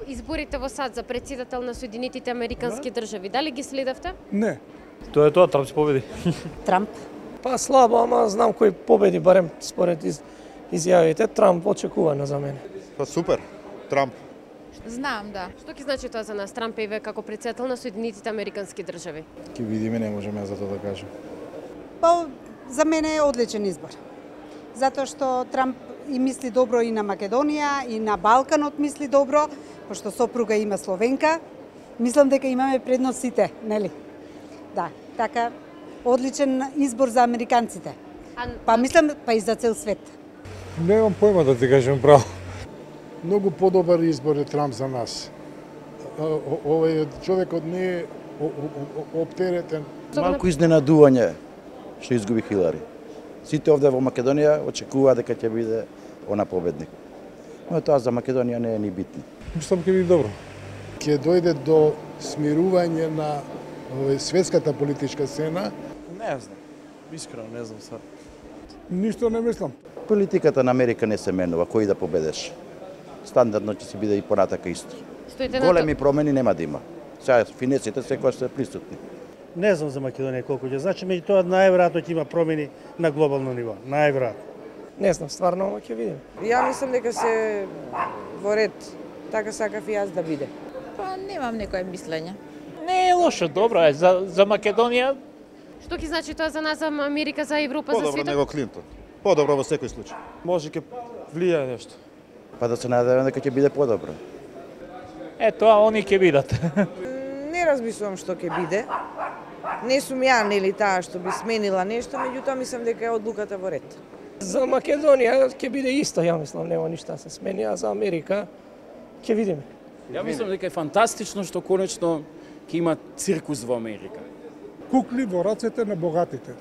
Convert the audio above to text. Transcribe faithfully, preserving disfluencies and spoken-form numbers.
Изборите во САД за председател на Соединетите Американски држави, дали ги следевте? Не. Тоа е тоа, Трамп ќе победи. Трамп. Па слабо, ама знам кој победи, барем според из, изјавите. Трамп очекувано за мене. Па супер, Трамп. Знам, да. Што ќе значи тоа за нас, Трамп еве како председател на Соединетите Американски држави? Ќе видиме, не можеме за тоа да кажем. Па за мене е одличен избор. Затоа што Трамп и мисли добро и на Македонија, и на Балканот мисли добро, пошто сопруга има Словенка. Мислам дека имаме предност сите, нели? Да, така одличен избор за американците. Па мислам па и за цел свет. Немам појма да ти кажем право. Многу подобар избор е Трамп за нас. Овој човекот не е оптеретен. Малку изненадување што изгуби Хилари. Сите овде во Македонија очекуваа дека ќе биде она победник. Но тоа за Македонија не е ни битно. Мислам ќе биде добро. Ќе дојде до смирување на овој светската политичка сцена. Не знам. Искрено не знам сега. Ништо не мислам. Политиката на Америка не се менува, кој да победеш. Стандардно ќе се биде и понатака исто. Големи промени нема да има. Сега финесите секој се присутни. Не знам за Македонија колку ќе значи, меѓутоа најверојатно ќе има промени на глобално ниво, најверојатно. Не знам, стварно, ама ќе видиме. Ја мислам дека се во ред, така сакав и јас да биде. Па немам некое мислење. Не е лошо, добро е за за Македонија. Што ќе значи тоа за нас, за Америка, за Европа, за Подобро светот? него Клинтон. Подобро во секој случај. Може ќе влијае нешто. Па да се надеваме дека ќе биде подобро. Е, тоа они ќе видат. Не размислувам што ќе биде. Не сум ја, нели, таа што би сменила нешто, меѓутоа мислам дека е одлуката во ред. За Македонија ќе биде исто, ја мислам, нема ништо да се смени, а за Америка ќе видиме. Ја мислам дека е фантастично што конечно ќе има циркус во Америка. Кукли во рацете на богатите.